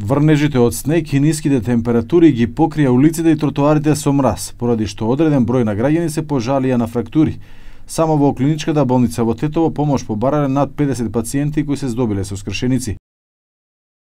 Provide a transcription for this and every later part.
Врнежите од снег и ниските температури ги покрија улиците и тротоарите со мраз, поради што одреден број на граѓани се пожалија на фрактури. Само во клиничката болница во Тетово помош побарале над 50 пациенти кои се здобиле со скршеници.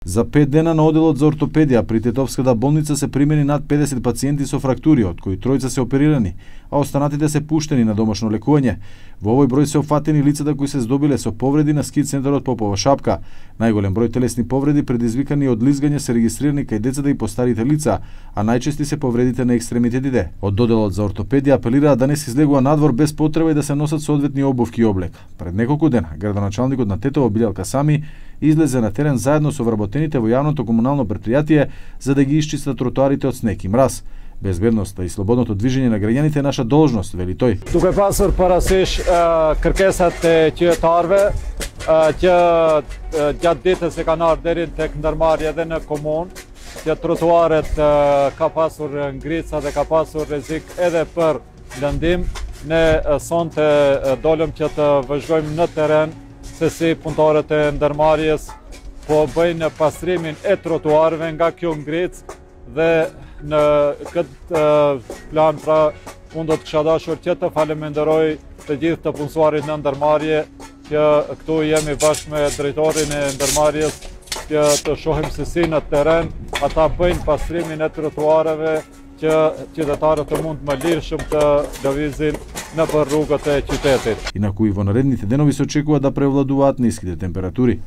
За 5 дена на оделот за ортопедија при Тетовската болница се примени над 50 пациенти со фрактури, од кои тројца се оперирани, а останатите се пуштени на домашно лекување. Во овој број се опфатени лицата кои се здобиле со повреди на ски центарот Попова Шапка. Најголем број телесни повреди предизвикани од лизгање се регистрирани кај децата и постарите лица, а најчести се повредите на екстремитетите. Од доделот за ортопедија апелираа да не се излегува надвор без потреба и да се носат соодветни обувки и облек. Пред неколку дена градоначалникот на Тетово Билјалка Сами излезе на терен заедно со вработените во јавното комунално предпријатие за да ги исчистат тротоарите од снег и мраз. Безбедноста и слободното движење на граѓаните е наша должност, вели тој. Duke pasur parasysh kërkesat e qytetarëve që gjatë ditës e kanë ardhur deri tek ndërmarrja edhe në komunë, që trotuaret ka pasur ngrica dhe ka pasur rrezik edhe për lëndim. Ne sonte dolëm që të vëzhgojmë në terren se si punëtorët e ndërmarrjes po bëjnë pastrimin e trotuarëve nga kjo ngric dhe në këtë plan pra unë do të kisha dashur që të faleminderoj të gjithë të punësuarit në ndërmarrje që këtu jemi bashkë me drejtorin e ndërmarrjes që të shohim se si në terren ata bëjnë pastrimin e trotuareve që qytetarët të mund më lirshëm të lëvizin nëpër rrugët e qytetit. Инаку и во наредните денови се очекува да превладуваат ниските температури.